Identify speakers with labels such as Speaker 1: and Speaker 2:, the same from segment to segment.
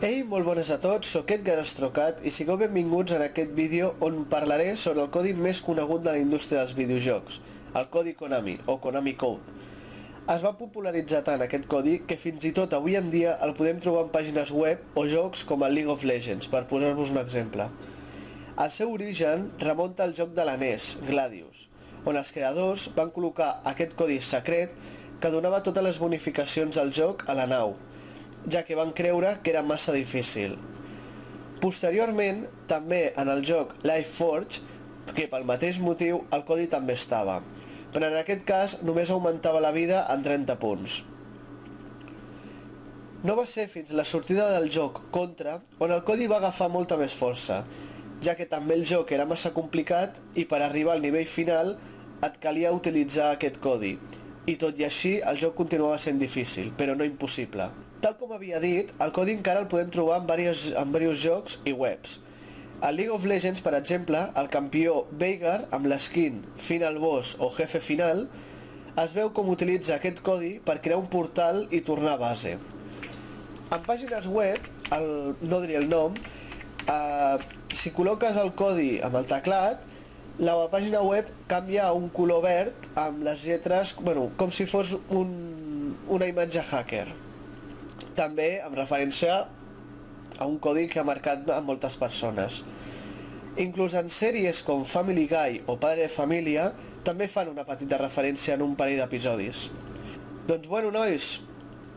Speaker 1: Ei, molt bones a tots, soc Edgar Astrocat i sigueu benvinguts en aquest vídeo on parlaré sobre el codi més conegut de la indústria dels videojocs, el codi Konami, o Konami Code. Es va popularitzar tant aquest codi que fins i tot avui en dia el podem trobar en pàgines web o jocs com el League of Legends, per posar-vos un exemple. El seu origen remunta al joc de la NES, Gladius, on els creadors van col·locar aquest codi secret que donava totes les bonificacions del joc a la nau, ja que van creure que era massa difícil. Posteriorment, també en el joc Life Forge, que pel mateix motiu el codi també estava, però en aquest cas només augmentava la vida en 30 punts. No va ser fins la sortida del joc Contra on el codi va agafar molta més força, ja que també el joc era massa complicat i per arribar al nivell final et calia utilitzar aquest codi, i tot i així el joc continuava sent difícil, però no impossible. Tal com havia dit, el codi encara el podem trobar en diversos jocs i webs. A League of Legends, per exemple, el campió Veigar, amb l'eskin Final Boss o Jefe Final, es veu com utilitza aquest codi per crear un portal i tornar a base. En pàgines web, no diré el nom, si col·loques el codi amb el teclat, la pàgina web canvia a un color verd amb les lletres, com si fos una imatge hacker. També amb referència a un codi que ha marcat a moltes persones. Inclús en sèries com Family Guy o Padre de Família també fan una petita referència en un parell d'episodis. Doncs bueno, nois,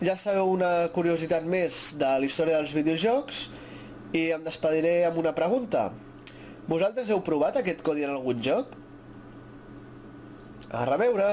Speaker 1: ja sabeu una curiositat més de la història dels videojocs i em despediré amb una pregunta. Vosaltres heu provat aquest codi en algun joc? A reveure!